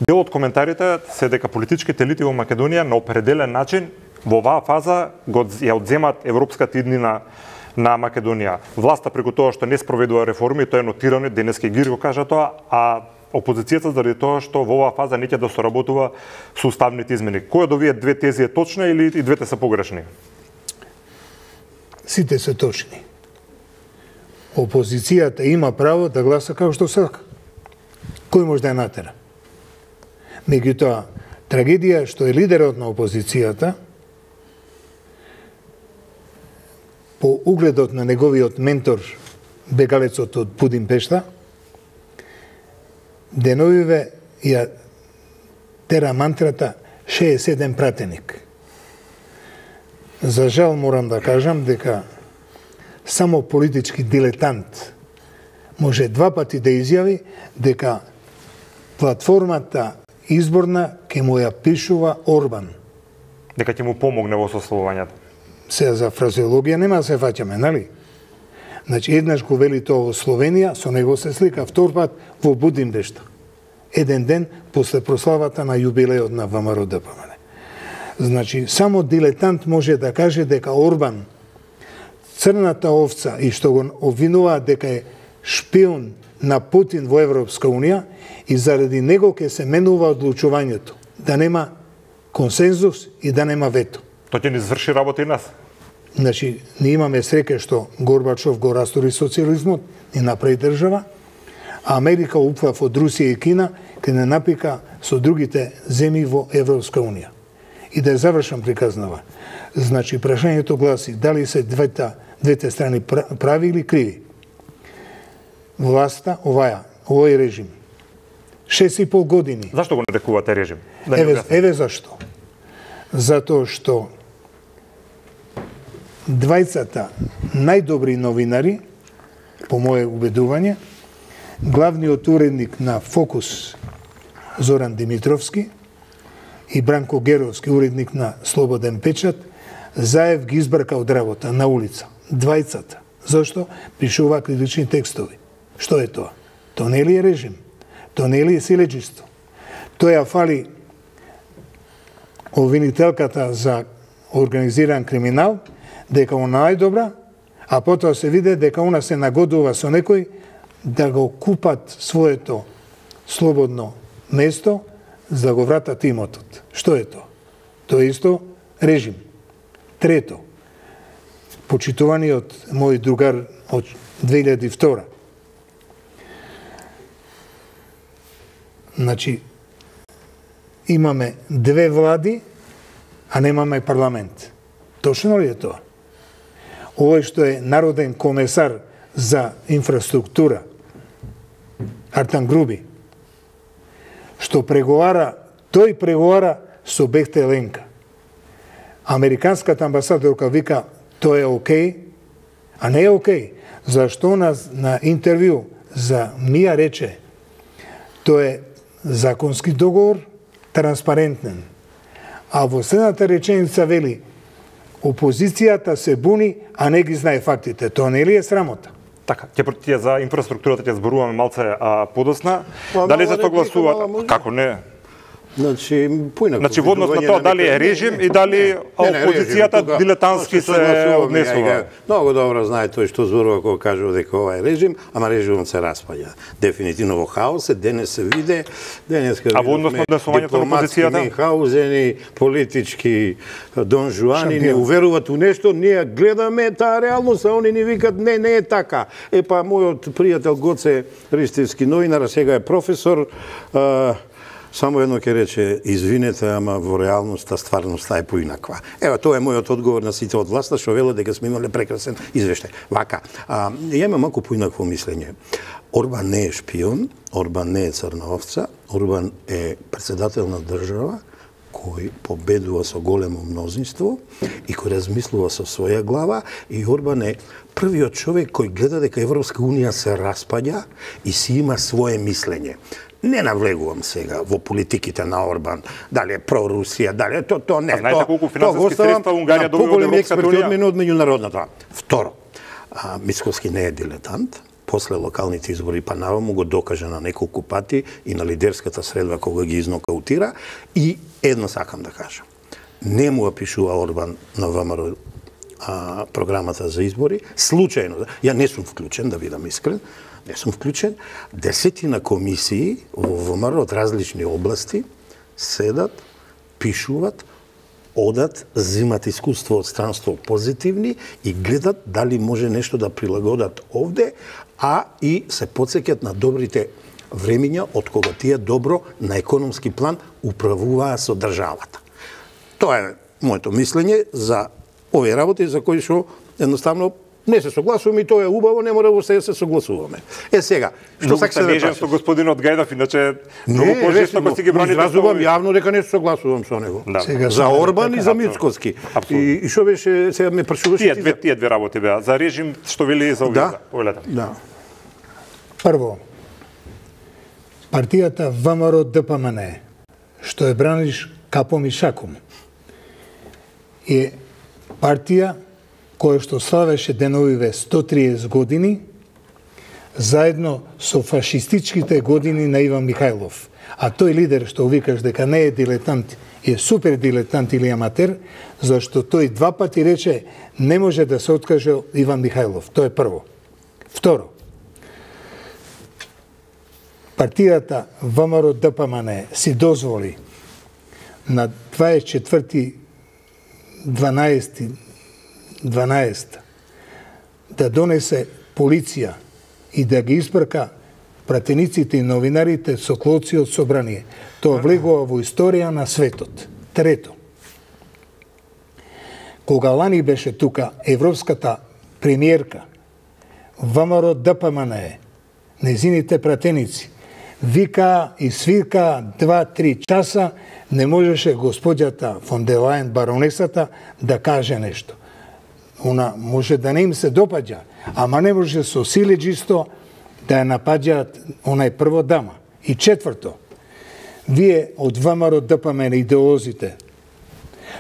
Дел од коментарите се дека политичките елити во Македонија на определен начин во оваа фаза ја одземат европската иднина на Македонија. Власта преку тоа што не спроведува реформи, тоа е нотирано, денеска Гир го кажа тоа, а опозицијата заради тоа што во оваа фаза не ќе да соработува со уставните измени. Која од овие две тези е точна или и двете се погрешни? Сите се точни. Опозицијата има право да гласа како што сака. Кој може да ја натера? Меѓутоа, трагедија што е лидерот на опозицијата, по угледот на неговиот ментор, бегалецот од Будимпешта, деновиве ја тера мантрата 67 пратеник. За жал морам да кажам дека само политички дилетант може два пати да изјави дека платформата изборна ќе му ја пишува Орбан. Дека ќе му помогне во сословувањето. Сега за фразеологија нема да се фаќаме, нали? Значи, еднаш го вели тоа во Словенија, со него се слика, втор пат во Будимпешта. Еден ден после прославата на јубилеот на ВМРО ДПМН. Значи, само дилетант може да каже дека Орбан, црната овца, и што го обвинуваат дека е шпион на Путин во Европска Унија, и заради него ќе се менува одлучувањето, да нема консензус и да нема вето. Тоа ќе ни изврши работа и нас. Значи, ние имаме среќа што Горбачов го растори социјализмот, ни направи држава, а Америка упфав од Русија и Кина, ќе не напика со другите земји во Европска Унија. И да ја завршам приказнава. Значи, прашањето гласи, дали се двете страни прави или криви? Власта, овој режим, 6,5 години. Зашто го нарекувате режим? Еве зашто. Затоа што двајцата најдобри новинари, по моје убедување, главниот уредник на Фокус Зоран Димитровски и Бранко Геровски, уредник на Слободен печат, заев ги избрка од работа на улица. Двајцата. Зошто? Пишува критични текстови. Што е тоа? Тоа не ли е режим? Тоа не ли е силеџисто? Тоа ја фали обвинителката за организиран криминал, дека она најдобра, а потоа се виде дека она се нагодува со некој да го купат своето слободно место за да го вратат имотот. Што е тоа? Тоа е исто режим. Трето, почитуваниот мој другар од 2002. Значи, имаме две влади, а немаме парламент. Точно ли е тоа? Овој што е народен комесар за инфраструктура, Артан Груби, што преговара, тој преговара со Бехте Ленка. Американската амбасадорка вика, тоа е окей, а не е окей. Зашто на интервју за МИА рече, тоа е законски договор, транспарентен. А во следната реченица вели, опозицијата се буни, а не ги знае фактите. Тоа не ли е срамота? Така, ќе за инфраструктурата ќе зборуваме малце подосна. Дали за тоа гласуваат? Како не? Значи, во однос на тоа дали е режим и дали опозицијата дилетантски се однесува. Многу добро знае тој што зборува кога кажува дека ова е режим, ама режимот се распаѓа. Дефинитивно во хаос е, денес се виде, денеска а во однос на однесувањето на опозицијата? Мюнхаузени, политички донжуани не уверуваат у нешто, ние гледаме таа реалност, а они ни викат не е така. Па мојот пријател Гоце Ристевски новинар, сега е професор, само едно ќе рече, извинете, ама во реалноста стварноста е поинаква. Ева, тоа е мојот одговор на сите од власта, што велат дека сме имале прекрасен извештај. Вака, ја имам малку поинакво мислење. Орбан не е шпион, Орбан не е црна овца, Орбан е председател на држава кој победува со големо мнозинство и кој размислува со своја глава, и Орбан е првиот човек кој гледа дека Европска Унија се распаѓа и си има свое мислење. Не навлегувам сега во политиките на Орбан, дали е про Русија, дали е тоа не. Знаете колку финансиски средства Унгарија добива од Европската Унија? Од меѓународната. Второ, Мицкоски не е дилетант, после локалните избори па наваму го докажа на неколку пати и на лидерската средба кога ги изнокаутира. И едно сакам да кажам. Не му пишува Орбан на ВМРО програмата за избори, случајно. Ја не сум вклучен, да бидам искрен, не сум вклучен. 10 комисии во ВМРО од различни области седат, пишуват, одат, земат искуство од странство позитивни и гледат дали може нешто да прилагодат овде, а и се потсеќат на добрите времиња од кога тие добро на економски план управуваа со државата. Тоа е моето мислење за овие работи за кои што едноставно не се согласуваме и тоа е убаво, не мора воопште да се согласуваме. Сега, што сакате да кажете? Со господинот Гајдов, иначе многу пожестоко си ги браните. Изразувам јавно дека не се согласувам со него. Да. За Орбан и за Мицкоски. И што беше, сега ме прашуваше тие две работи беа за режим што вели за овие. Да. Прво, партијата ВМРО ДПМН, што е браниш капом и шаком, е партија која што славеше деновиве 130 години, заедно со фашистичките години на Иван Михајлов. А тој лидер што викаш дека не е дилетант, е супер дилетант или аматер, зашто тој 2 пати рече не може да се откаже Иван Михајлов. Тоа е прво. Второ, партијата ВМРО ДПМН си дозволи на 24.12. да донесе полиција и да ги испрка пратениците и новинарите со клоци од собрание. Тоа влегува во историја на светот. Трето, кога лани беше тука европската премиерка, ВМРО ДПМН, незините пратеници, вика и свирка 2-3 часа, не можеше господјата фон дер Лајен, баронесата, да каже нешто. Она може да не им се допаѓа, ама не може со силеџисто да ја напаѓаат онај прво дама. И четврто, вие од ВМРО ДПМН идеолозите,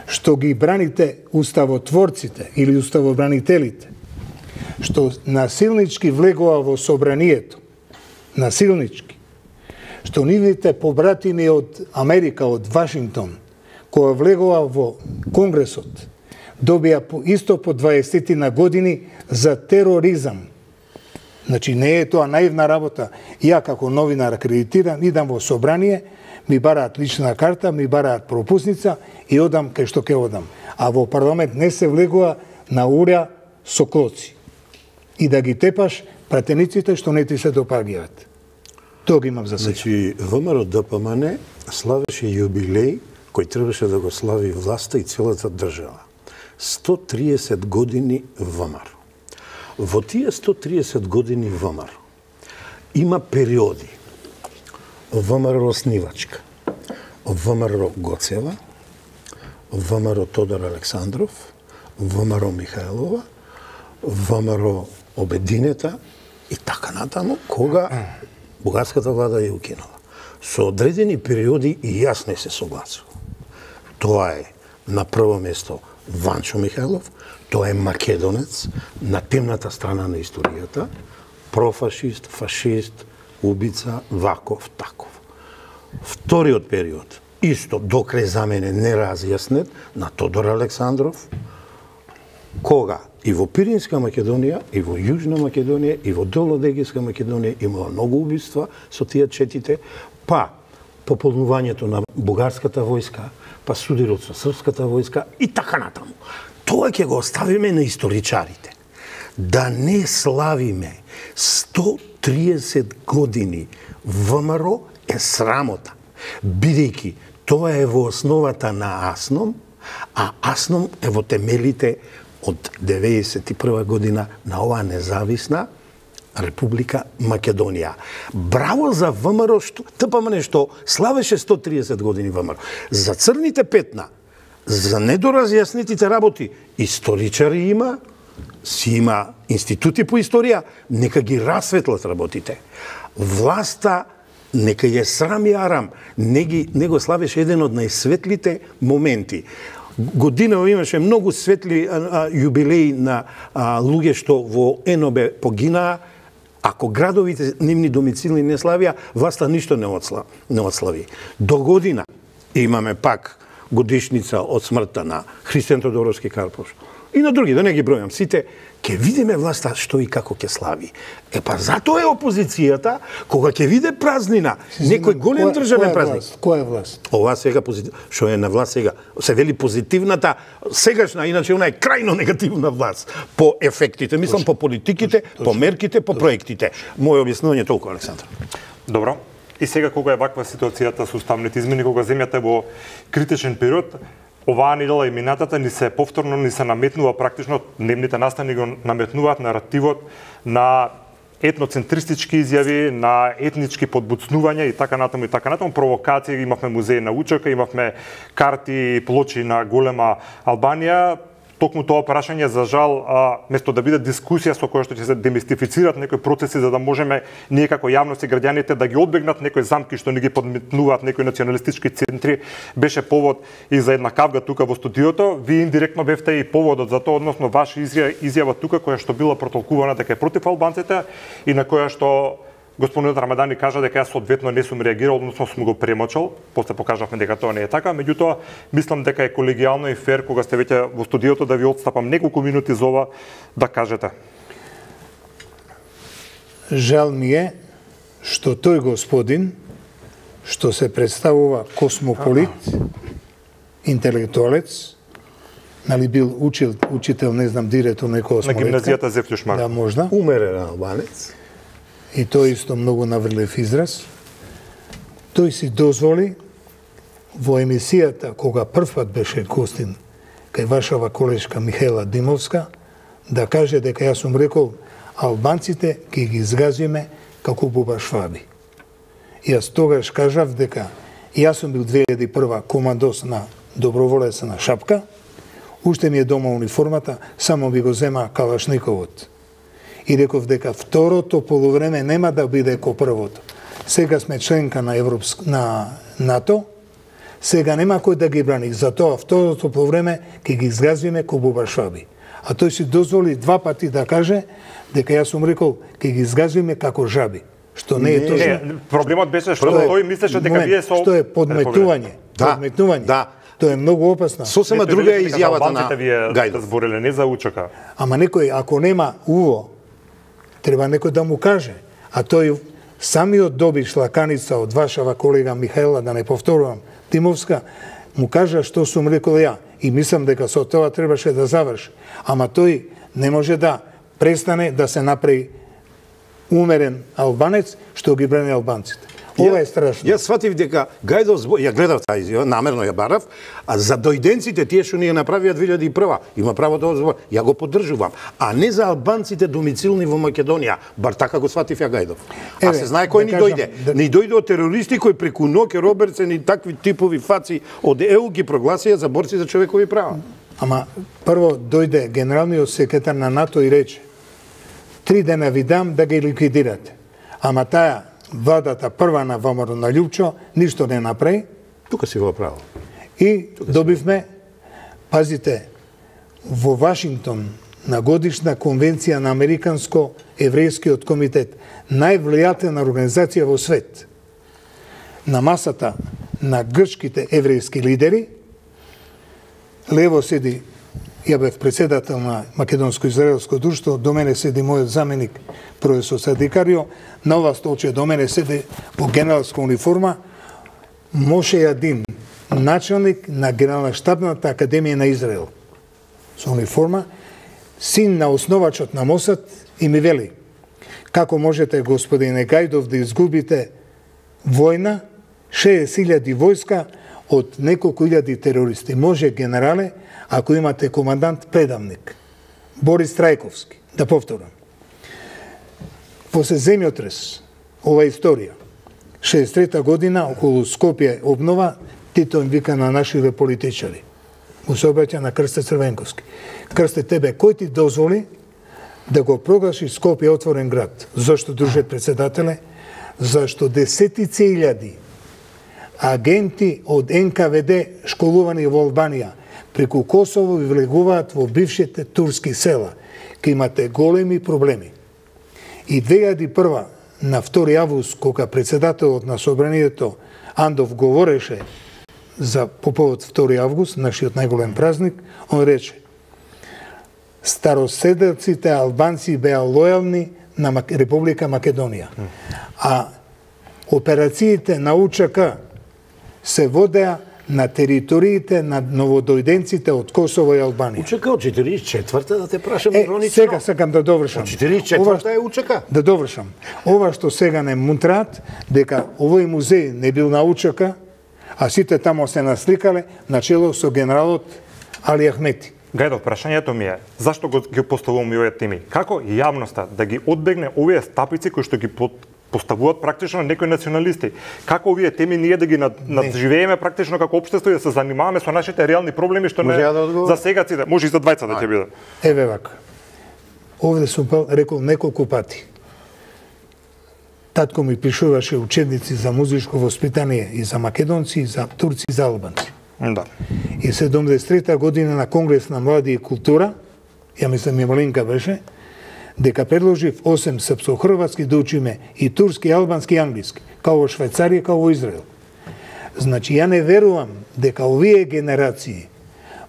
што ги браните уставотворците или уставобранителите, што насилнички влегува во собранието, насилнички, што нивните побратими од Америка, од Вашингтон, која влегува во Конгресот, добија исто по 20 години за тероризам. Значи, не е тоа наивна работа. Ја како новинар акредитиран, идам во собрание, ми бараат лична карта, ми бараат пропусница и одам кај што ке одам. А во парламент не се влегува на урја со клоци. И да ги тепаш пратениците што не ти се допаѓаат. Тоа ги имам за сега. Значи, ВМРО ДПМН славеше јубилеј кој требаше да го слави власта и целата држава. 130 години ВМРО. Во тие 130 години ВМРО има периоди. ВМРО Оснивачка, ВМРО Гоцева, ВМРО Тодор Александров, ВМРО Михајлова, ВМРО Обединета и така натаму, кога бугарската влада ја укинала. Со одредени периоди и јас не се согласувам. Тоа е на прво место Ванчо Михајлов, тоа е македонец на темната страна на историјата, профашист, фашист, убица, ваков, таков. Вториот период, исто докрај за мене неразјаснет, на Тодор Александров, кога и во Пиринска Македонија, и во Јужна Македонија, и во Долно-Дегијска Македонија имала многу убиства со тие четите, па пополнувањето на бугарската војска, па судирот со српската војска и така натаму. Тоа ќе го оставиме на историчарите. Да не славиме 130 години ВМРО е срамота, бидејќи тоа е во основата на АСНОМ, а АСНОМ е во темелите од 91 година на оваа независна Република Македонија. Браво за ВМРО, што ТПМН што славеше 130 години ВМРО. За црните петна, за недоразјаснетите работи, историчари има, си има институти по историја, нека ги расветлат работите. Власта нека ја срам и арам, не го славеше еден од најсветлите моменти. Годинава имаше многу светли јубилеи на луѓе што во НОБ погинаа, Ако градовите нивни домицилни не славија, власта ништо не отслави. До година имаме пак годишница од смртта на Христијан Тодоровски Карпош. И на други, да не ги бројам сите, ќе видиме власта што и како ќе слави. Па затоа е опозицијата, кога ќе види празнина, некој голем државен празник. Која е власт? Ова сега што е на власт сега, се вели позитивната, сегашна, иначе она е крајно негативна власт по ефектите, мислам по политиките, по мерките, по проектите. Моје објаснување толку, Александр. Добро. И сега кога е ваква ситуацијата со уставните измени, кога земјата е во критичен период, оваа недела и минатата ни се повторно ни се наметнува практично, дневните настани го наметнуваат наративот на етноцентристички изјави, на етнички подбуцнувања и така натаму, провокации. Имавме музеј на Учака, имавме карти и плочи на голема Албанија. Токму тоа прашање, за жал, место да биде дискусија со која што ќе се демистифицират некои процеси за да можеме ние како јавност и граѓаните да ги одбегнат некои замки што ни ги подметнуваат некои националистички центри, беше повод и за една кавга тука во студиото. Ви индиректно бевте и поводот за тоа, односно ваша изјава тука која што била протолкувана дека е против албанците и на која што господинот Рамадани кажа дека јас соодветно не сум реагирал, односно сум го премочал, после покажавме дека тоа не е така, меѓутоа мислам дека е колегијално и фер кога сте веќе во студиото да ви отстапам неколку минути за ова да кажете. Жал ми е што тој господин што се представува космополит, интелектуалец, нали бил учител, не знам, директор на космолетка. На гимназијата Зефтюшмар. Да, можда. Умерен албанец. И тој исто многу наврлив израз. Тој си дозволи во емисијата, кога првпат беше гостин кај вашава колешка Михаела Димовска, да каже дека јас сум рекол албанците ќе ги изгазиме како бубашваби. Јас тогаш кажав дека јас сум бил 2001 командос на доброволец на Шапка, уште ми е дома униформата, само би го зема Калашниковот. И реков дека второто полувреме нема да биде ко првото. Сега сме членка на НАТО, сега нема кој да ги брани. Затоа второто полувреме ќе ги изгазиме ко бубашваби. А тој си дозволи два пати да каже дека јас сум рекол ќе ги изгазиме како жаби. Што не е точно. Проблемот беше што тој мислеше дека вие со... Што е подметнување. Подметнување. Да. Тоа е многу опасно. Сосема друга е изјавата на Гајдов. Збореле не за Учака. Ама некој, ако нема уво, треба некој да му каже. А тој самиот доби шлаканица од вашава колега Михаела, да не повторувам, Тимовска, му кажа што сум рекол ја. И мислам дека со тоа требаше да заврши. Ама тој не може да престане да се направи умерен албанец што ги брани албанците. Ова е страшно. Јас сватив дека Гајдов ја гледав таа изјава, намерно ја барав, а за дојденците тие што ние направија 2001, има право да збор. Ја го поддржувам, а не за албанците домицилни во Македонија, бар така го сватив ја Гајдов. А се знае кој ни дојде? Ни дојде од терористи кои преку Ноке, Робертсен и такви типови фаци од ЕУ ги прогласија за борци за човекови права. Ама прво дојде генералниот секретар на НАТО и рече: 3 дена ви дам да ги ликвидирате. Ама таа владата прва на ВМРО на Љупчо ништо не направи. Тука си го право. И добивме, пазите, во Вашингтон на годишна конвенција на Американско-еврејскиот комитет, највлијателна организација во свет, на масата на грчките еврејски лидери, лево седи, ја бев председател на Македонско-израелско друштво, до мене седи мојот заменик професор Садикарио, на ова столче до мене седи во генералска униформа Моше Јадин, началник на Генерална штабната академија на Израел. Со униформа, син на основачот на Мосад, и ми вели: како можете, господине Гајдов, да изгубите војна, 60.000 војска од неколку илјади терористи? Може, генерале, ако имате командант предавник, Борис Трајковски, да повторам. После земјотрес, ова историја, 63-та година, околу Скопје обнова, Тито им вика на нашите политичари. Му се обраќа на Крсте Црвенковски. Крсте, тебе, кој ти дозволи да го проглаши Скопје отворен град? Зошто, друже председателе? Зашто десетици илјади агенти од НКВД школувани во Албанија преку Косово ви влегуваат во бившите турски села, ке имате големи проблеми. И 2001 на 2 август, кога председателот на собранието Андов говореше за по повод 2 август, нашиот најголем празник, он рече: староседелците албанци беа лојални на Република Македонија, а операциите на УЧК се водеа на териториите на новодојденците од Косово и Албанија. УЧК од 44-та, да те прашам иронично. Сега сакам да довршам. Од 44-та е УЧК. Да довршам. Ова што сега не мунтраат, дека овој музеј не бил на УЧК, а сите тамо се насликале начело со генералот Али Ахмети. Гајдо, прашањето ми е, зашто ги поставувам и овие теми? Како јавноста да ги одбегне овие стапици кои што ги поставуваат практично некои националисти? Како овие теми ние да ги надживееме практично како општество и да се занимаваме со нашите реални проблеми што не за сега ците, може и за двајца да ќе биде. Еве вака. Овде сум рекол неколку пати. Татко ми пишуваше учебници за музичко воспитание и за македонци, и за турци, и за албанци. Да. И 73-та година на Конгрес на млади и култура, ја мислам и Малинка беше, дека предложив 8 српско-хрватски да учиме и турски, и албански, и англиски, као во Швајцарија, као во Израел. Значи, ја не верувам дека овие генерации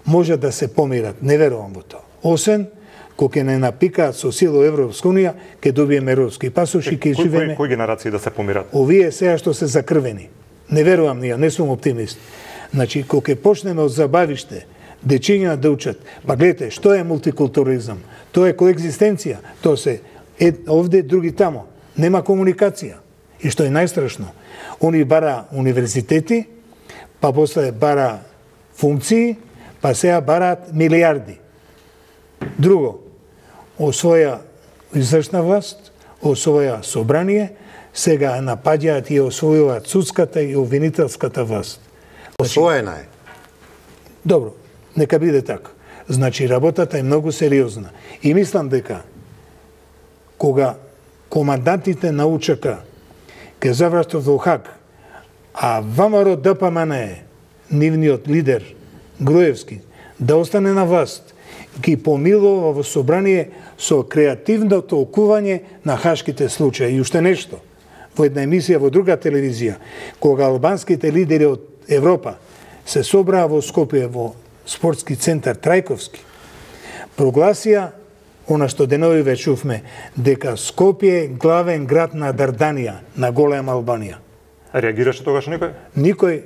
може да се помират, не верувам во тоа. Освен, кога не напикаат со сила Европска унија, ќе добиеме европски пасоши, ќе живееме. Кои генерации да се помират? Овие сега што се закрвени. Не верувам ние, не сум оптимист. Значи, кога ќе почнеме од забавиште, дечиња да учат, па гледате, што е мултикултуризам? Тоа е коегзистенција. Тоа се овде, други тамо. Нема комуникација. И што е најстрашно, они бара универзитети, па после бара функции, па сега бараат милиарди. Друго, освоја извршна власт, освоја собрание, сега напаѓаат и освојуваат судската и обвинителската власт. Освоена е. Добро, нека биде така. Значи, работата е многу сериозна. И мислам дека, кога командантите на УЧК ќе завршат во Хаг, а ВМРО ДПМН, нивниот лидер, Груевски, да остане на власт, ги помилува во собрание со креативно толкување на хашките случаи. И уште нешто, во една емисија во друга телевизија, кога албанските лидери од Европа се собраа во Скопје во спортски центар Трајковски, прогласија она што денови веќе чувме, дека Скопје е главен град на Дарданија, на голема Албанија. Реагираше тогаш некој? Никој,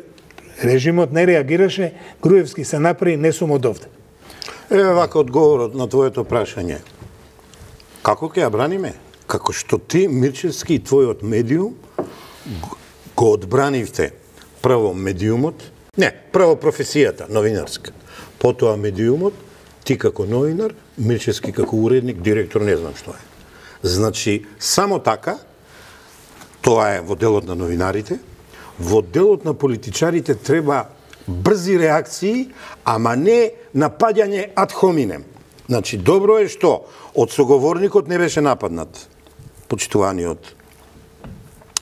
режимот не реагираше, Груевски се направи, не сум од овде. Еве вака одговорот на твоето прашање. Како ќе ја браниме? Како што ти, Мирчевски, и твојот медиум го одбранивте прво медиумот, не, прво професијата, новинарска, потоа медиумот, ти како новинар, Мирчевски како уредник, директор, не знам што е. Значи, само така, тоа е во делот на новинарите, во делот на политичарите треба брзи реакции, ама не напаѓање ад хоминем. Значи, добро е што од соговорникот не беше нападнат почитуваниот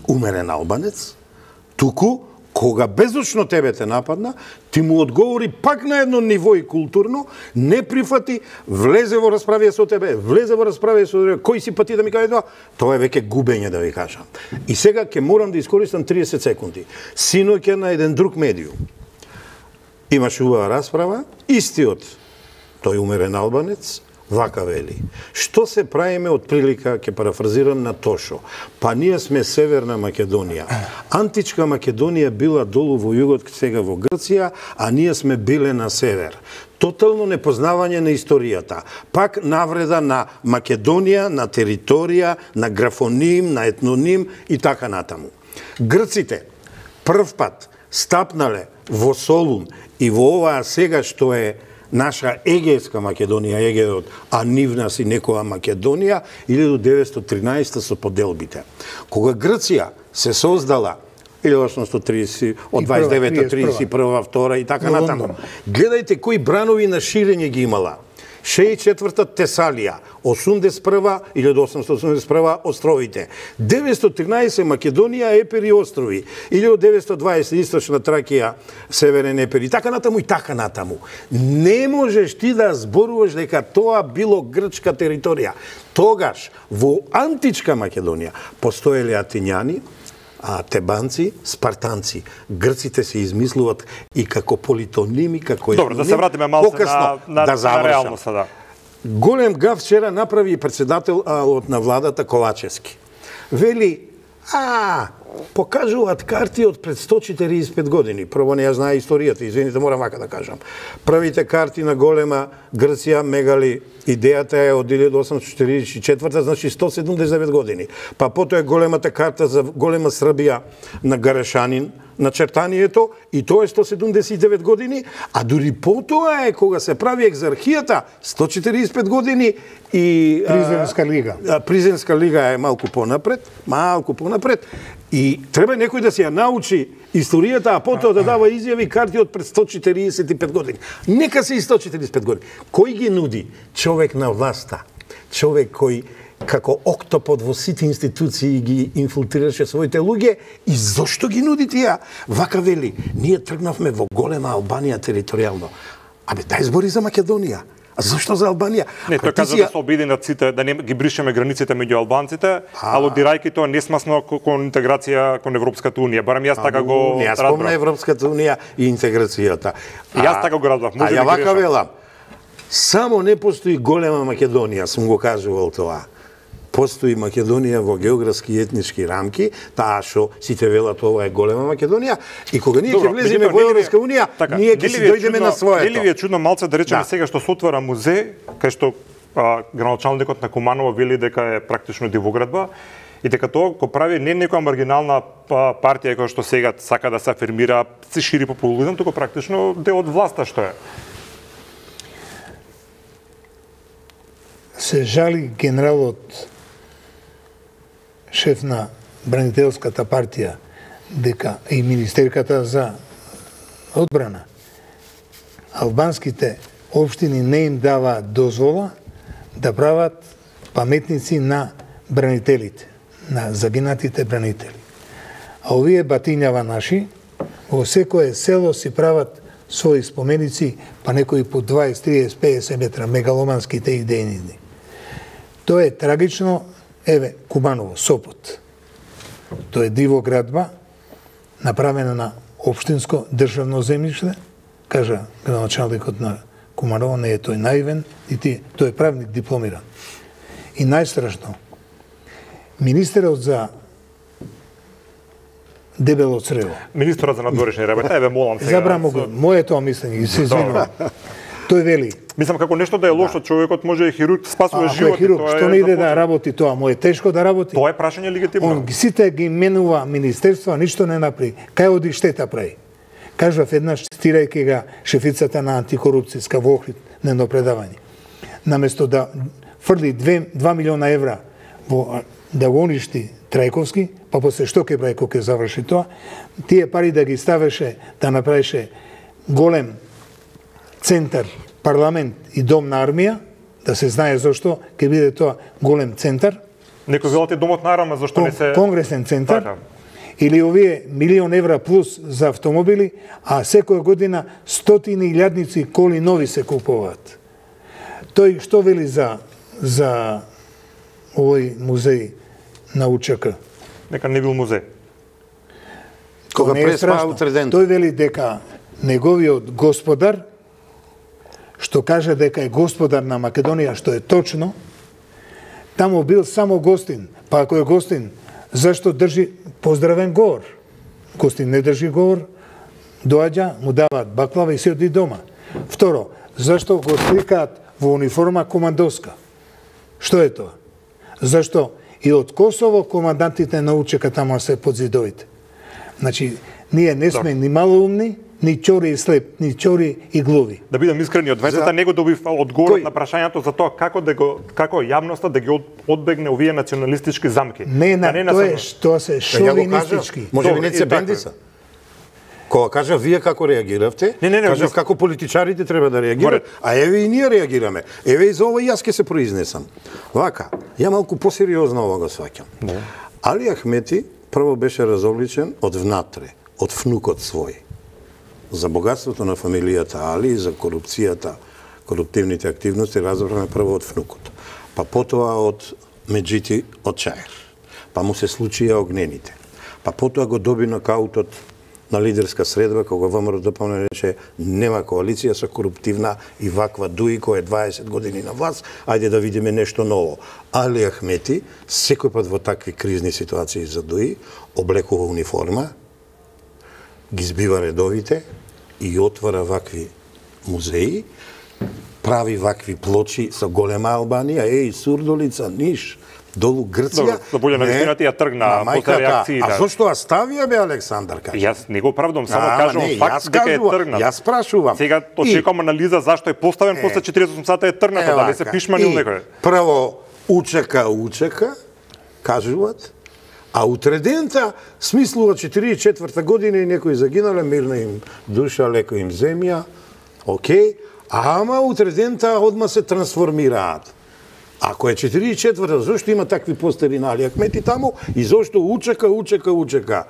умерен албанец, туку кога безочно тебе те нападна, ти му одговори пак на едно ниво и културно, не прифати, влезе во расправија со тебе, влезе во расправија со тебе, кој си па ти да ми каже тоа е веќе губење, да ви кажам. И сега ќе морам да искористам 30 секунди. Синоќа на еден друг медиум имаше убава расправа, истиот тој умерен албанец вака вели: што се правиме од прилика, ќе парафразирам, на Тошо? Па ние сме Северна Македонија. Античка Македонија била долу во југот, сега во Грција, а ние сме биле на север. Тотално непознавање на историјата. Пак навреда на Македонија, на територија, на графоним, на етноним и така натаму. Грците прв пат стапнале во Солун и во оваа сега што е наша Егејска Македонија, Егејот, а нивна си некоја Македонија, 1913 со поделбите. Кога Грција се создала 1830, од 29 до 31 2 и така натаму, гледајте кои бранови на ширење ги имала. 64-та Тесалија, 81-та 1881 островите, 913 Македонија, Епир и острови, 1920 Источна Тракија, Северен Епир и така натаму и така натаму. Не можеш ти да зборуваш дека тоа било грчка територија. Тогаш во античка Македонија постоеле атињани, тебанци, спартанци. Грците се измислуваат и како политоними, како Добро, да се вратиме малце на реалноста, да. Голем гаф вчера направи председателот на владата Ковачевски. Вели, покажуваат карти од пред 145 години. Прво не ја знае историјата, извините, морам вака да кажам. Првите карти на голема Грција, мегали, идејата е од 1844, значи 179 години. Па потоа е големата карта за голема Србија на Гарешанин, начертанието, и тоа е 179 години, а дури потоа е кога се прави екзархијата, 145 години и... Призенска лига. Призенска лига е малку понапред, и треба некој да се ја научи историјата, а потоа да дава изјави карти од пред 145 години. Нека се и 145 години. Кој ги нуди? Човек на власта. Човек кој како октопод во сите институции ги инфилтрираше своите луѓе, и зошто ги нуди тие? Вака вели, ние тргнавме во голема Албанија територијално. Дај збори за Македонија. А зошто за Албанија? Не, тој кажа да се обединат сите, да не ги бришеме границите меѓу албанците, алудирајќи тоа несмасно кон интеграција кон Европската унија. Барем јас така го разбрав. Јас спомна Европската унија и интеграцијата. Јас така го разбрав. Може ја вака велам. Само не постои голема Македонија, сум го кажувал тоа. Постои Македонија во географски и етнички рамки, таа што сите велат ова е голема Македонија, и кога ние ќе влеземе во Европска унија, ние ќе си дојдеме на своето. Нели ви е чудно малце да речеме сега што се отвара музеј, кај што градоначалникот на Куманово вели дека е практично дивоградба, и дека тоа го прави не некоја маргинална партија која што сега сака да се афирмира, се шири популизам, туку практично дел од власта што е. Се жали генералот шеф на бранителската партија, дека и министерката за одбрана, албанските општини не им даваат дозвола да прават паметници на бранителите, на загинатите бранители. А овие батињава наши, во секое село си прават своји споменици, па некои по 20, 30, 50 метра, мегаломанските идејни. Тоа е трагично. Еве, Куманово, Сопот. Тоа е дивоградба, направена на општинско државно земјиште, кажа градоначалникот на Куманово, не е тој наивен, и тој е правник дипломиран. И најстрашно, министерот за дебело црево. Министерот за надворешни работи, еве молам сега. Забрамо го, моето мислење, се извинувам. Тој вели, мислам како нешто да е лошо, човекот може хирург спасува живот. Ако е хирург, што не иде да работи тоа, му е тешко да работи. Тоа е прашање легитимно. Он сите ги менува министерства, ништо не направи. Кај оди штета прави? Кажав еднаш, цитирајќи га шефицата на антикорупцијска во Охрид на едно предавање. Наместо да фрли 2 милиона евра да го уништи Трајковски, па после што ќе прави кога ќе заврши тоа, тие пари да ги ставеше, да направише голем центар, парламент и дом на армија, да се знае зашто ќе биде тоа голем центар. Некој велате домот на армија, зашто не се... Конгресен центар. Или овие 1.000.000 евра плюс за автомобили, а секоја година стотини илјадници коли нови се купуваат. Тој што вели за овој музеј на УЧК? Нека не бил музеј. Кога преспаа утреден. Тој вели дека неговиот господар, што каже дека е господар на Македонија, што е точно, таму бил само гостин. Па ако е гостин, зашто држи поздравен говор? Гостин не држи говор, доаѓа, му даваат баклава и се оди дома. Второ, зашто го сликаат во униформа командоска? Што е тоа? Зашто и од Косово командантите на УЧК таму се под зидовите? Значи, ние не сме ни малоумни, ни чори и слеп, ни чори и глуви. Да бидам искрени, од двајцата не го добив одговор на прашањето за тоа како јавноста да ги одбегне овие националистички замки. Не, тоа се шовинистички. Може би не се Бендиса. Кога кажав вие како реагиравте, кажав како политичарите треба да реагираат, а еве и ние реагираме. Еве и за ова јас ќе се произнесам. Вака, ја малку посериозно ова го сваќам. Али Ахмети прво беше разобличен од внатре, од внукот свој. За богатството на фамилијата Али и за корупцијата, коруптивните активности разбраме прво од внукот. Па потоа од Меджити од Чаир. Па му се случија огнените. Па потоа го доби нокаутот на лидерска средба, кога ВМРО ДПМН рече нема коалиција со коруптивна и ваква Дуи, која е 20 години на власт, ајде да видиме нешто ново. Али Ахмети, секој пат во такви кризни ситуации за Дуи, облекува униформа, ги збива редовите и отвара вакви музеи, прави вакви плочи со голема Албанија, Сурдолица, Ниш, долу Грција. За боља на вистината ја тргна после реакциите. А зошто оставија бе Александар кажа? Јас не го правдам, само кажувам факт дека е тргнат. Јас прашувам. Сега очекувам анализа зашто е поставен после 48 сата е тргната, дали се пишманил некој. Прво учека, кажуваат, а утредента смислува 44 година и некои загинале, мирна им душа, леко им земја, окей, ама утредента одма се трансформираат. Ако е 44-та, зашто има такви постери на Али Ахмети таму и зашто учека?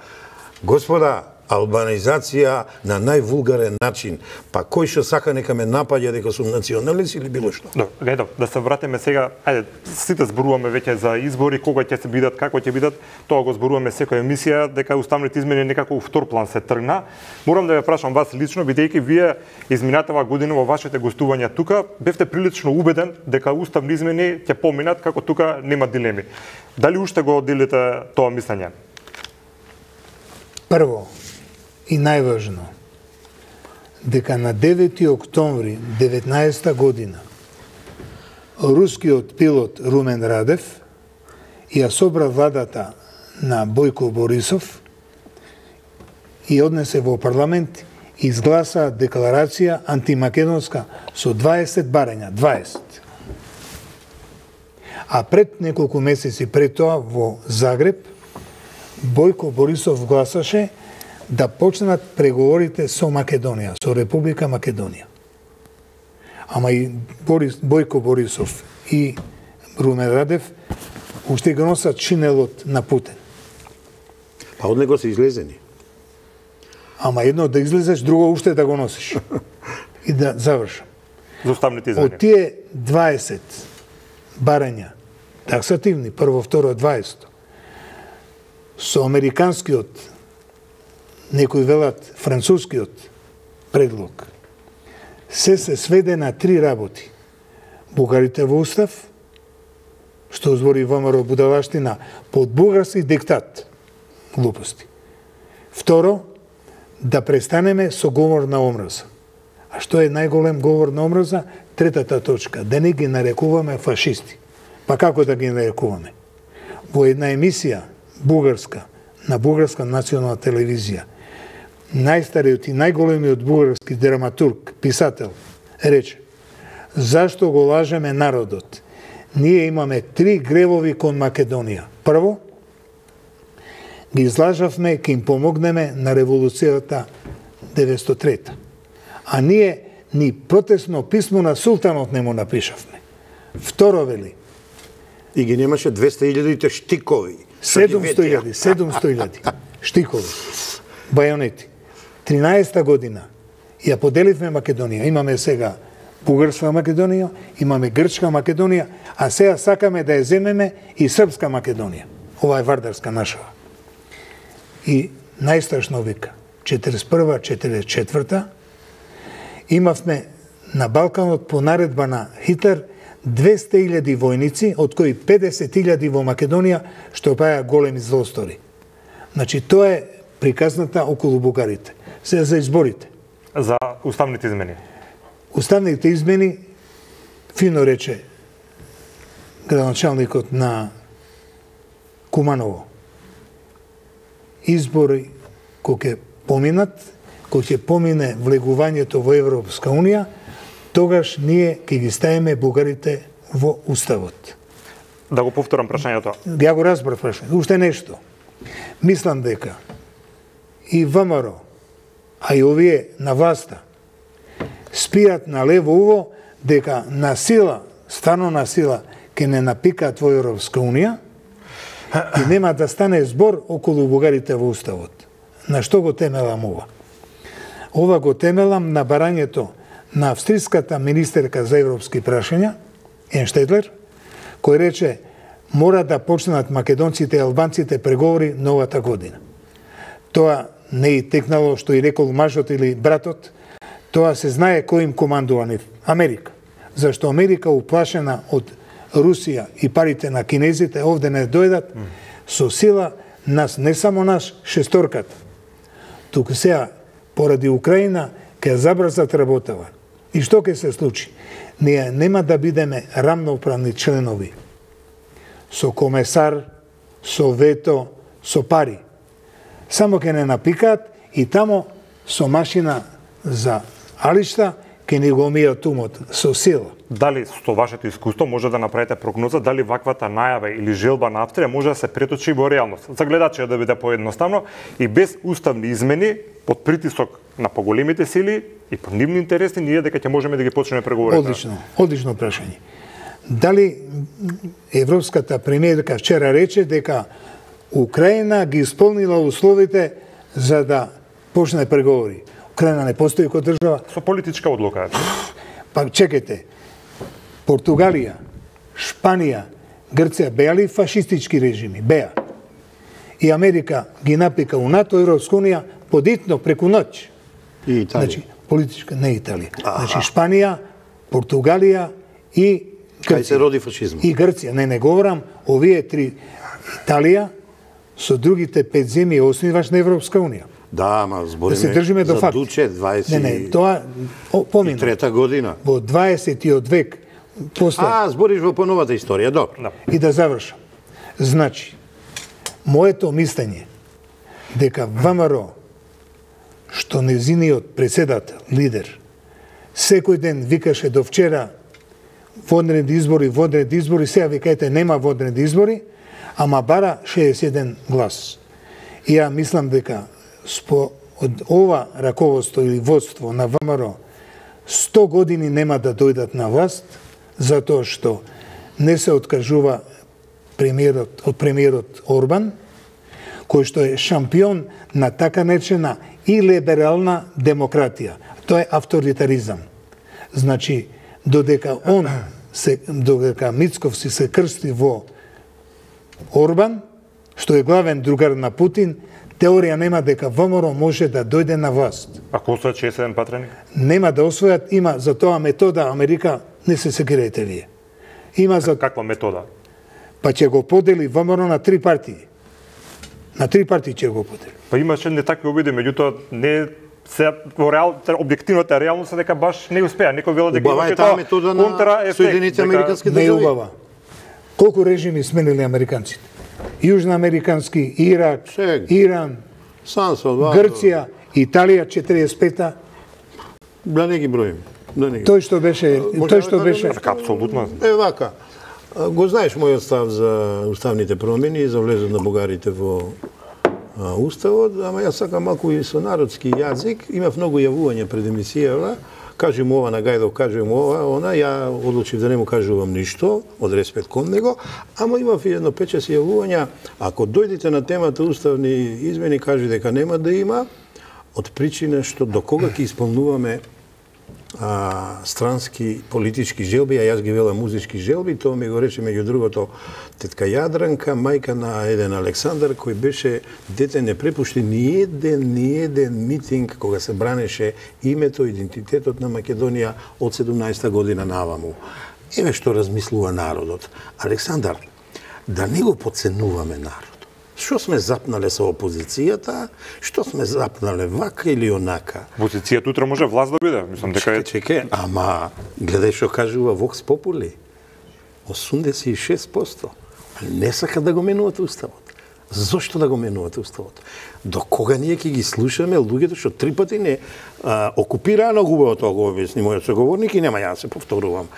Господа, албанизација на највулгарен начин, па кој што сака нека ме напаѓа дека сум националист или било што? Да се вратиме сега, ајде, сите зборуваме веќе за избори, кога ќе се бидат, како ќе бидат, тоа го зборуваме секоја емисија, дека уставните измени некако втор план се тргна. Морам да ве прашам вас лично, бидејќи вие изминатава година во вашите гостувања тука, бевте прилично убеден дека уставни измени ќе поминат, како тука нема дилеми. Дали уште го делите тоа мислење? Прво, и најважно, дека на 9 октомври 19 година рускиот пилот Румен Радев ја собра владата на Бојко Борисов и однесе во парламент и изгласа декларација антимакедонска со 20 барања, 20. А пред неколку месеци пред тоа во Загреб Бојко Борисов гласаше да почнат преговорите со Македонија, со Република Македонија. Ама и Бојко Борисов и Румен Радев уште го носат чинелот на Путин. Па од него се излезени. Ама едно да излезеш, друго уште да го носиш. И да завршам. За уставните измени. Од тие 20 барања, таксативни, прво, второ, 20, со американскиот, некои велат францускиот предлог, се сведе на 3 работи. Бугарите во устав, што збори ВМРО будалаштина, под бугарски диктат, глупости. Второ, да престанеме со говор на омраза. А што е најголем говор на омраза? Третата точка, да не ги нарекуваме фашисти. Па како да ги нарекуваме? Во една емисија бугарска, на бугарска национална телевизија, најстариот и најголемиот бугарски драматург, писател, рече: зашто го лажеме народот? Ние имаме 3 гревови кон Македонија. Прво, ги излажавме, ке им помогнеме на револуцијата 903. А ние ни протестно писмо на султанот не му напишавме. Второ, вели, и ги немаше 200.000 штикови. 700.000 штикови, бајонети. 13 година ја поделивме Македонија. Имаме сега Бугарска Македонија, имаме Грчка Македонија, а сега сакаме да ја земеме и Српска Македонија. Ова е вардарска нашава. И најстрашно вика, 41-44 имавме на Балканот по наредба на Хитлер 200.000 војници, од кои 50.000 во Македонија, што паја големи злостори. Значи, тоа е приказната околу бугарите. Сега за изборите. За уставните измени. Уставните измени, фино рече градоначалникот на Куманово. Избори кој ќе поминат, кој ќе помине влегувањето во Европска Унија, тогаш ние ќе ги ставиме бугарите во уставот. Да го повторам прашањето. Ја го разбрав прашањето. Уште нешто. Мислам дека и ВМРО, а и овие на власта, спијат на лево уво дека на сила, стварно на сила, ке не напикаат во Европска Унија и нема да стане збор околу бугарите во Уставот. На што го темелам ова? Ова го темелам на барањето на австриската министерка за европски прашања, Енштедлер, кој рече мора да почнат македонците и албанците преговори новата година. Тоа не и текнало што и рекол мажот или братот, тоа се знае кој им командува нив. Америка. Зашто Америка уплашена од Русија и парите на кинезите овде не дојдат, со сила нас, не само наш, шесторката. Туку сега, поради Украина, ќе забрзат работава. И што ќе се случи? Ние нема да бидеме рамноправни членови. Со комесар, со вето, со пари. Само ќе не напикаат и тамо со машина за алишта ќе ни го мијат умот со сила. Дали со вашето искуство може да направите прогноза дали ваквата најава или желба на Австрија може да се преточи во реалност? За гледачите да биде поедноставно и без уставни измени, под притисок на поголемите сили и по нивни интереси, ние дека ќе можеме да ги почнеме преговорите. Одлично прашање. Дали европската премиерка вчера рече дека Украина ги исполнила условите за да почне преговори? Украина не постои како држава. Со политичка одлука. Па чекайте, Португалија, Шпанија, Грција беа ли фашистички режими? Беа. И Америка ги напика у НАТО, Европска Унија, подитно, преку ноќ. И Италија. Значи, политичка, не Италија. Значи, Шпанија, Португалија и Грција. Кај се роди фашизмот. И Грција. Не говорам, овие три, Италија, со другите 5 земји основиваш на Европска Унија. Да, ама збориме да се држиме до за факт. Дуче 23 Не, тоа помина. Трета година. Во 20-тиот век после. Збориш во поновата историја, добро. Да. И да завршам. Значи, моето мислење дека ВМРО, што незиниот председател, лидер, секој ден викаше до вчера воднеди избори, сега викајте нема воднеди избори, ама бара 61 глас. И ја мислам дека од ова раководство или водство на ВМРО 100 години нема да дојдат на власт, затоа што не се откажува премиерот Орбан, кој што е шампион на така наречена и либерална демократија. Тоа е авторитаризам. Значи, додека Мицковски се крсти во Орбан, што е главен другар на Путин, теорија нема дека ВМРО може да дојде на власт. Ако освојат 61 патреник? Нема да освојат, има за тоа метода Америка, не се секирајте вие. Има за каква метода? Па ќе го подели ВМРО на 3 партии. На 3 партии ќе го подели. Па имаше не такви обиди, меѓутоа не се во објективната реалност е дека баш не успеа. Некој вела дека имаше тоа контра Соединените американски држави. Не убава. Колку режими сменили американците? Јужноамерикански, Ирак, Иран, Грција, Италија 45-та. Да не ги броим. Тој што беше апсолутно. Вака. Го знаеш мојот став за уставните промени, за влезот на бугарите во уставот, ама јас сакам малку и со народски јазик. Имав многу јавувања пред емисијава. Кажи му ова на Гајдов, кажи му ова, ја одлучив да не му кажувам ништо, од респект кон него, ама имав и едно 5-6 јавувања. Ако дојдете на темата уставни измени, кажи дека нема да има, од причина што до кога ќе исполнуваме странски политички желби, а јас ги велам музички желби, тоа ми го рече меѓу другото тетка Јадранка, мајка на еден Александар, кој беше дете, не препушти ни еден митинг кога се бранеше името, идентитетот на Македонија од 17-та година наваму. Еве што размислува народот. Александар, да не го подценуваме народ. Што сме запнале со опозицијата, што сме запнале вака или онака. Опозицијата утре може власт да биде, мислам дека е. Чекај, ама гледај што кажува Vox Populi. 86%. Не сака да го менуват уставот. Зошто да го менувате уставот? До кога ние ќе ги слушаме луѓето што 3 пати не окупираа на губаво тоа го објасни мојот соговорник и нема ја да се повторувам.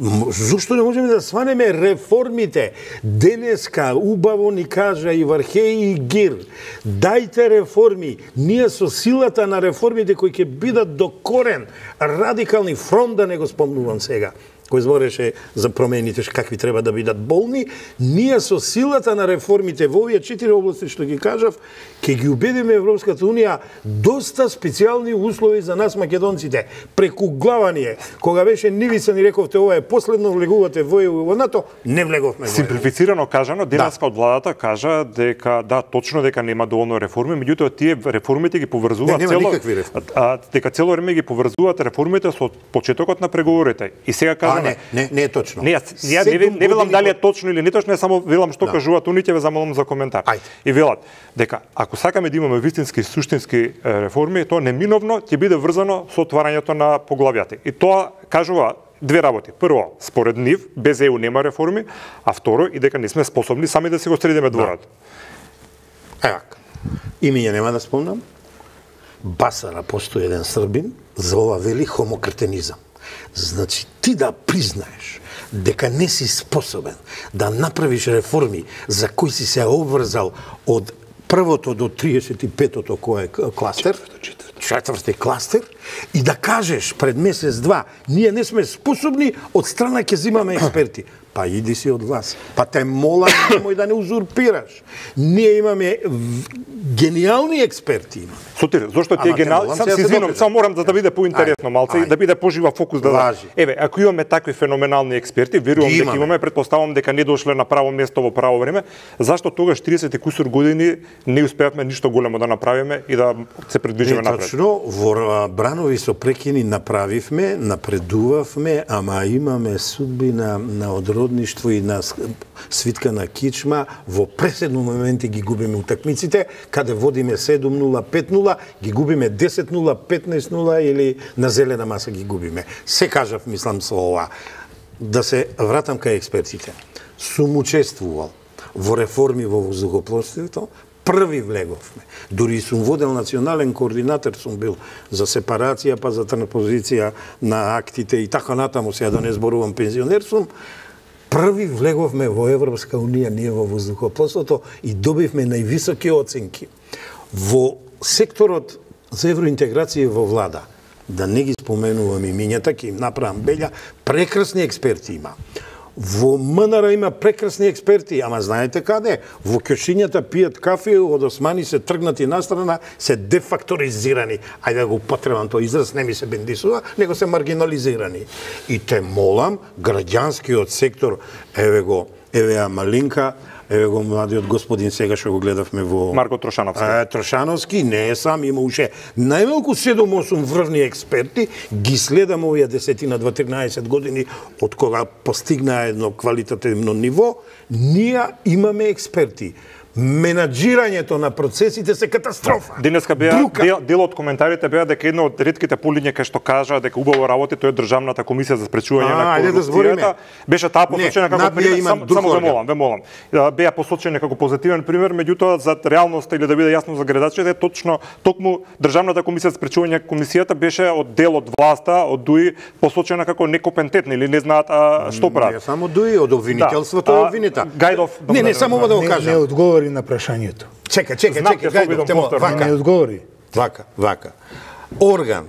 Зошто не можеме да сванеме реформите? Денеска убаво ни кажа и Вархеј и Гир. Дајте реформи. Ние со силата на реформите кои ќе бидат до корен, радикални, фронт да не го спомнувам сега, кој збореше за промените какви треба да бидат болни, ние со силата на реформите во овие 4 области што ги кажав, ќе ги убедиме Европската унија доста специјални услови за нас македонците. Преку глава ние, кога беше Нивица ни рековте ова е последно, влегувате во НАТО, не влеговме во. Симплифицирано кажано, денеска од владата кажа дека да, точно дека нема доволно реформи, меѓутоа тие реформите ги поврзуваат дека цело време ги поврзуваат реформите со почетокот на преговорите. И сега кажа не е точно. Не велам дали е точно или не точно, само велам што кажуваат уните, ве замолам за коментар. И велат дека ако сакаме да имаме вистински и суштински реформи, тоа неминовно ќе биде врзано со отварањето на поглавјата. И тоа кажува две работи. Прво, според нив, без ЕУ нема реформи, а второ, и дека не сме способни сами да си го средиме дворот. Имење нема да спомнам. Басара постои еден србин, за ова вели хомокретенизам. Значи, ти да признаеш дека не си способен да направиш реформи за кои си се обврзал од првото до 35-тото кој е кластер, четврти кластер, и да кажеш пред месец-два, ние не сме способни, од страна ќе зимаме експерти. Па иди си од вас. Па те молам, немој да не узурпираш. Ние имаме гениални експерти. Сотир, зошто тие гениални? Се извинувам, само морам да биде поинтересно малце и да биде пожива фокус да. Еве, ако имаме такви феноменални експерти, верувам дека имаме, претпоставам дека не дошле на право место во право време, зашто тогаш 30 кусур години не успеавме ништо големо да направиме и да се придвижиме напред? Точно, во бранови со прекини направивме, напредувавме, ама имаме судбина на одродништво и на свитка на кичма, во преседно моменти ги губиме утакмиците, каде водиме 7-0, 5-0, ги губиме 10-0, 15-0 или на зелена маса ги губиме. Се кажав, мислам, со ова. Да се вратам кај експертите. Сум учествувал во реформи во воздухопловството, први влеговме. Дури сум водел национален координатор, сум бил за сепарација, па за транспозиција на актите и така натаму, сега да не зборувам пензионер сум. Први влеговме во Европска унија, ние во воздухопловството и добивме највисоки оценки. Во секторот за евроинтеграција во влада, да не ги споменувам имињата, ќе им направам белја, прекрасни експерти има. Во МНР има прекрасни експерти, ама знаете каде? Во кјошињата пијат кафе, од османи се тргнати настрана, се дефакторизирани. Ајде да го потребам тој израз, не ми се бендисува, него се маргинализирани. И те молам, граѓанскиот сектор, еве Малинка, еве го младиот господин сега што го гледавме во Марко Трошановски. Трошановски не е сам, има уште најмалку 7-8 врвни експерти, ги следам овие 10-12 години од кога постигна едно квалитативно ниво, ние имаме експерти. Менаџирањето на процесите се катастрофа. Денеска дел од коментарите беа дека едно од ретките полиња кај што кажа дека убаво работи тоа е Државната комисија за спречување на корупцијата. Беше таа посочена како пример, само ве молам. Беа посочени како позитивен пример, меѓутоа за реалноста или да биде јасно за гледачите, токму Државната комисија за спречување на комисијата беше од дел од власта, од ДУИ посочена како некомпетентна или не знаат што прават. Не само ДУИ, од обвинителството е обвинита. Гајдов, не само да го кажам. Не одговори на прашањето. Чека, Гајдов, вака. Не одговори. Вака. Орган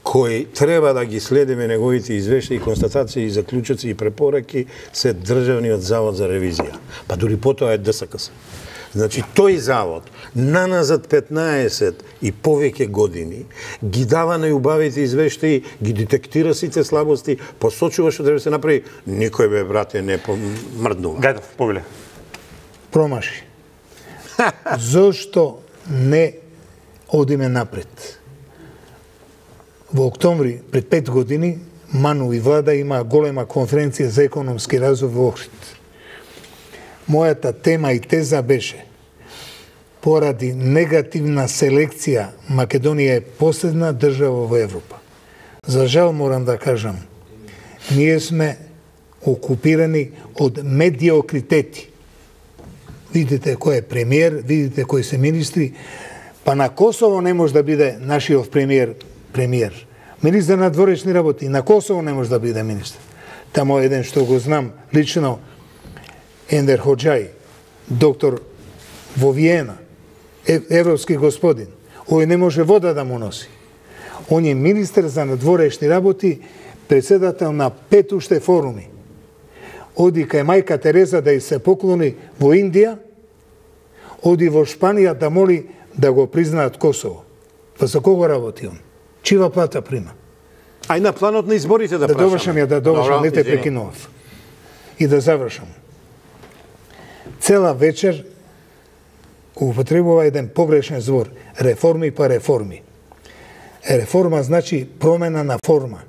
кој треба да ги следиме неговите извештаи, констатации, заклучоци и препораки се Државниот завод за ревизија. Па дури потоа е ДСКС. Значи, тој завод, наназад 15 и повеќе години, ги дава најубавите извештаи, ги детектира сите слабости, посочува што треба се направи, никој бе, брате, не мрднува. Гајдов, повеле. Промаши. Зошто не одиме напред? Во октомври, пред 5 години, Ману и влада има голема конференција за економски развој во Охрид. Мојата тема и теза беше: поради негативна селекција, Македонија е последна држава во Европа. За жал морам да кажам, ние сме окупирани од медиокритети. видите кој е премиер, видите кои се министри, па на Косово не може да биде нашиот премиер. Министер на дворечни работи, на Косово не може да биде министер. Тамо еден што го знам лично, Ендер Ходжај, доктор во Виена, европски господин, ој не може вода да му носи. Он е министер за надворешни работи, председател на 5 уште форуми. Оди кај мајка Тереза да и се поклони во Индија, оди во Шпанија да моли да го признаат Косово. Па за кого работи он? Чива плата прима? Ај на планот на изборите да прашаме. Да довршам, не те прекинував. И да завршам. Цела вечер употребува еден погрешен збор. Реформи па реформи. Реформа значи промена на форма.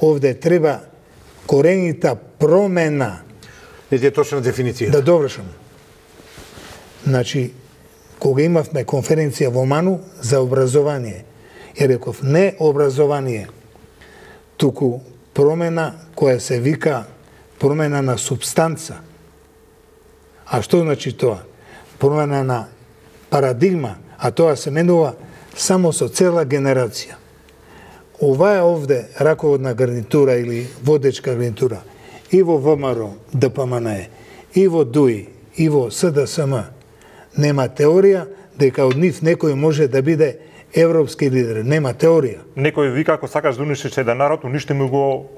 Овде треба коренита промена. Не ти е точна дефиниција. Да довршам. Значи, кога имавме конференција во Ману за образование, ја реков не образование, туку промена која се вика промена на субстанца. А што значи тоа? Промена на парадигма, а тоа се менува само со цела генерација. Ова е овде раководна гарнитура или водечка гарнитура и во ВМРО, ДПМНЕ, и во ДУИ, и во СДСМ. Нема теорија дека од нив некој може да биде европски лидер. Нема теорија. Некој вика ако сакаш да уништиш еден народ, уништи му го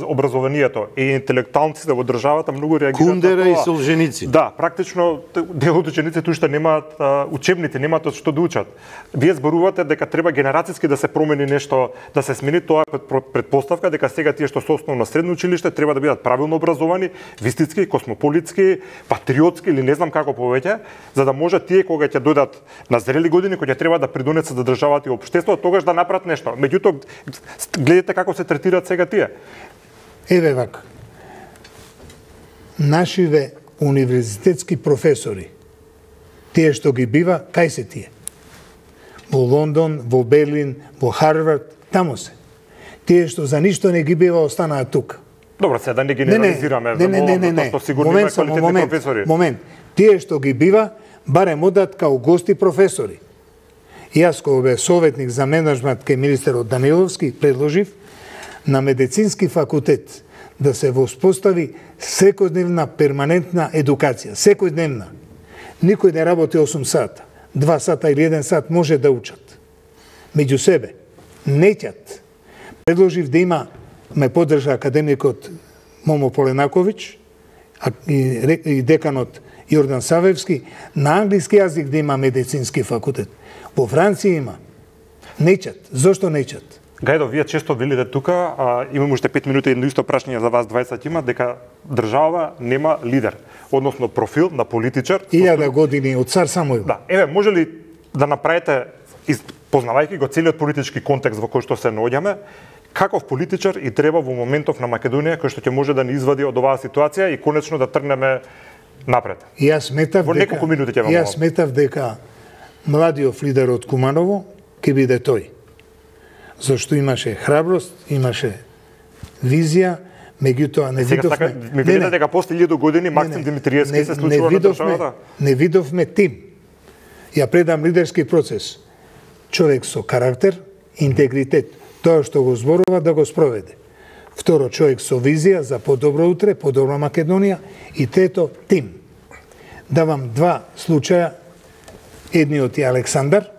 образованието. И интелектуалците во државата многу реагираат. Кундера и Солженици. Да, практично дел од учениците уште немаат учебници, немаат од што да учат. Вие зборувате дека треба генерацијски да се промени нешто, да се смени, тоа предпоставка дека сега тие што се основно средно училиште треба да бидат правилно образовани, вистински, космополитски, патриотски или не знам како повеќе, за да може тие кога ќе дојдат на зрели години, кога ќе треба да придонесат за државата и општеството, тогаш да направат нешто. Меѓутоа, гледате како се третираат сега тие. Еве вака. Нашиве универзитетски професори, тие што ги бива, кај се тие? Во Лондон, во Берлин, во Харвард, тамо се. Тие што за ништо не ги бива, останаат тука. Добро, сега да не генерализираме. Не. Сигурно има квалитетни професори. Момент. Тие што ги бива, барем одат као гости професори. Јас, кога бе советник за менеджмент кај министерот Даниловски, предложив на медицински факултет да се воспостави секојдневна перманентна едукација. Секојдневна. Никој не работи 8 сата. 2 сата или 1 сат може да учат. Меѓу себе. Неќат. Предложив да има, ме поддржа академикот Момо Поленаковиќ и деканот Јордан Савевски, на англиски јазик да има медицински факултет. Во Франција има. Неќат. Зошто неќат? Гајдо, вие често велите тука, имам уште 5 минути едно исто прашање за вас 20 има, дека држава нема лидер, односно профил на политичар. 1000 години од цар Самуил. Да, еве, може ли да направите, познавајќи го целиот политички контекст во кој што се наоѓаме, каков политичар и треба во моментов на Македонија кој што ќе може да ни извади од оваа ситуација и конечно да тргнеме напред? Јас сметав дека младиот лидер од Куманово ќе биде тој. Зашто имаше храброст, имаше визија, меѓутоа не видовме... Сега ми видите дека после 1000 години Максим Димитриевски се случува на државата? Не видовме тим. Ја предам лидерски процес. Човек со карактер, интегритет, тоа што го зборува да го спроведе. Второ, човек со визија за подобро утре, подобра Македонија. И трето, тим. Давам 2 случаја. Едниот е Александар,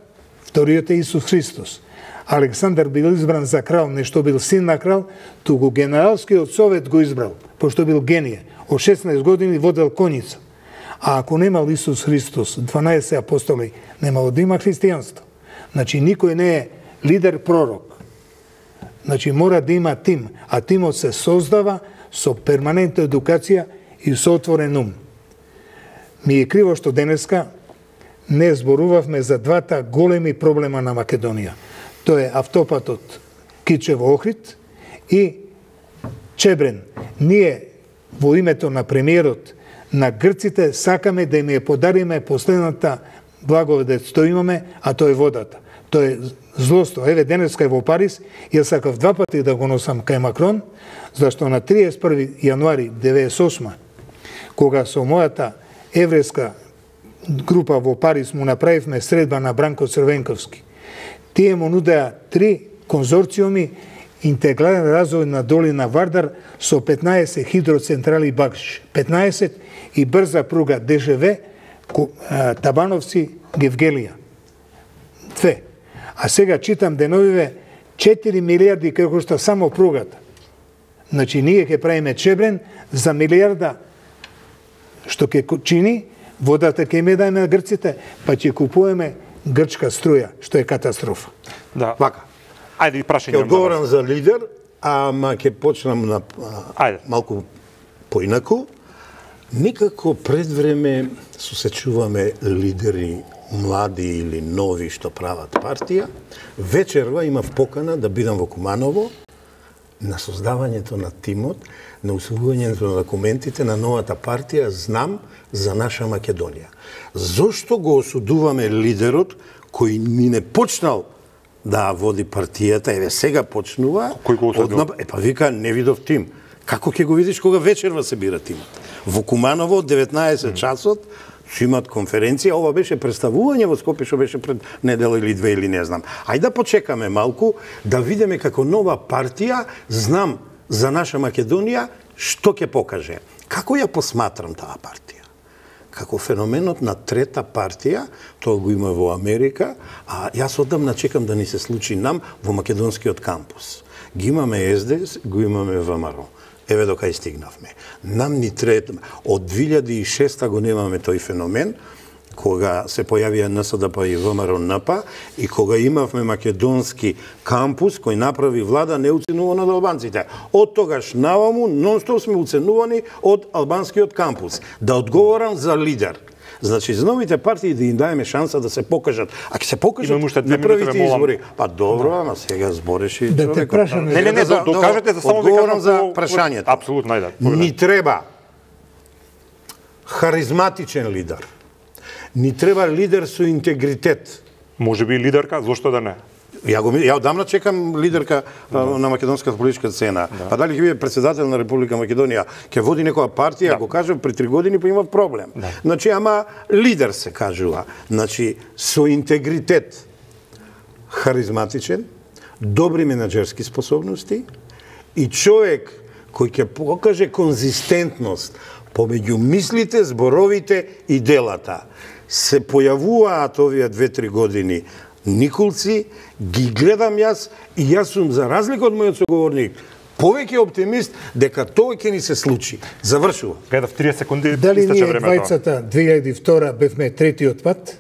вториот е Исус Христос. Александар бил избран за крал, не што бил син на крал, туку генералскиот совет го избрал, пошто бил генија. Од 16 години водел коњица. А ако немал Исус Христос, 12 апостоли, немало да има христијанство. Значи, никој не е лидер пророк. Значи, мора да има тим, а тимот се создава со перманентна едукација и со отворен ум. Ми е криво што денеска не зборувавме за 2 големи проблема на Македонија. Тоа е автопатот Кичево-Охрид и Чебрен. Ние во името на премиерот на грците сакаме да им ја подариме последната благодет што имаме, а тоа е водата. Тоа е злосто. Еве денеска е во Париз, јас сакав 2 пати да го носам кај Макрон, зашто на 31 јануари 98, кога со мојата еврејска група во Париз му направивме средба на Бранко Црвенковски. Тие му нудеа 3 конзорциуми интегрален развој на долина Вардар со 15 хидроцентрали Багш, 15 и брза пруга ДЖВ Табановци Гевгелија. 2. А сега читам деновиве 4 милиарди како што само пругата. Значи ние ќе правиме чебрен за милиарда што ќе чини, водата ќе ме дајме на грците, па ќе купуваме грчка струја, што е катастрофа. Да. Вака. Ајде и прашање. Ќе одговорам за лидер, ама ќе почнам на малку поинаку. Никако пред време сосечуваме лидери млади или нови што прават партија. Вечерва имав покана да бидам во Куманово на создавањето на тимот, на усвојувањето на документите на новата партија Знам за наша Македонија. Зошто го осудуваме лидерот кој ни не почнал да води партијата, еве сега почнува? Кој го осудил? Па вика, не видов тим. Како ќе го видиш кога вечерва се бира тимот? Во Куманово од 19 часот ќе имат конференција, ова беше представување во Скопје што беше пред недела или 2 или не знам. Ајде да почекаме малку да видиме како нова партија Знам за наша Македонија што ќе покаже. Како ја посматрам таа партија? Како феноменот на трета партија, тоа го има во Америка, а јас одамна чекам да ни се случи нам во македонскиот кампус. Ги имаме СДС, го имаме ВМРО. Еве до кај стигнавме. Нам ни трета, од 2006 го немаме тој феномен, кога се појавија НСДП и ВМРО-НП и кога имавме македонски кампус кој направи влада неуценувана од албанците. Од тогаш наваму нонстоп сме уценувани од албанскиот кампус. Да одговорам за лидер. Значи, за новите партии да им даеме шанса да се покажат. А ќе се покажат на првите избори. Па добро, ама сега збореше и да те прашаме. Не, докажете за само одговорам за прашањето. Апсолутно, ајде. Ни треба харизматичен лидер. Ни треба лидер со интегритет. Може би лидерка, зошто да не? Ја одамна чекам лидерка на македонската политичка сцена. Па дали ќе биде председател на Република Македонија, ќе води некоја партија, го кажам при 3 години па има проблем. Значи, ама лидер се кажува. Значи, со интегритет, харизматичен, добри менаџерски способности и човек кој ќе покаже конзистентност помеѓу мислите, зборовите и делата. Се појавуваат овие 2-3 години никулци, ги гледам јас и јас сум, за разлика од мојот соговорник, повеќе оптимист дека тоа ќе ни се случи. Завршува. Кај да в 30 секунди дали истече ние времето. двајцата 2002 бевме третиот пат?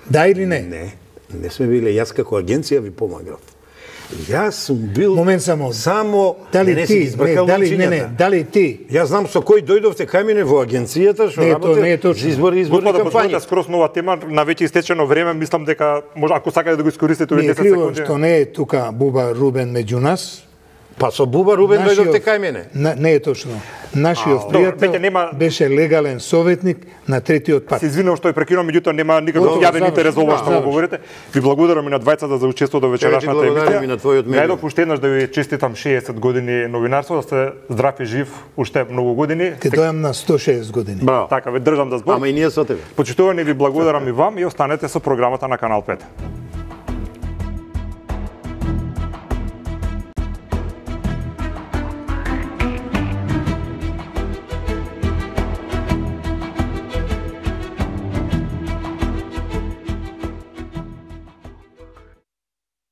Да или не? Не сме биле. Јас како агенција ви помагав. Јас сум бил Момент само. Дали ти? Дали ти? Јас знам со кој дојдовте кај мене во агенцијата што работе за изборни Господа, кампањи. да скроз нова тема, на веќе истечено време, мислам дека може ако сакате да го искористите овие 10 секунди. Не е секунди. што не е тука Буба Рубен меѓу нас. Па со Буба Рубен дојдовте кај мене. Не е точно. Нашиот пријател беше легален советник на третиот пат. Се извинувам што ја прекинувам, меѓутоа нема никаков јавен интерес за ова што го говорите. Ви благодарам и на двајцата за учеството во вечерашната емисија. Најдов уште еднаш да ви честитам 60 години новинарство, да сте здрав и жив уште многу години. Ке дојам на 160 години. Браво. Така, ве држам да збор. Ама и ние со тебе. Почитувани, ви благодарам и вам и останете со програмата на Канал 5.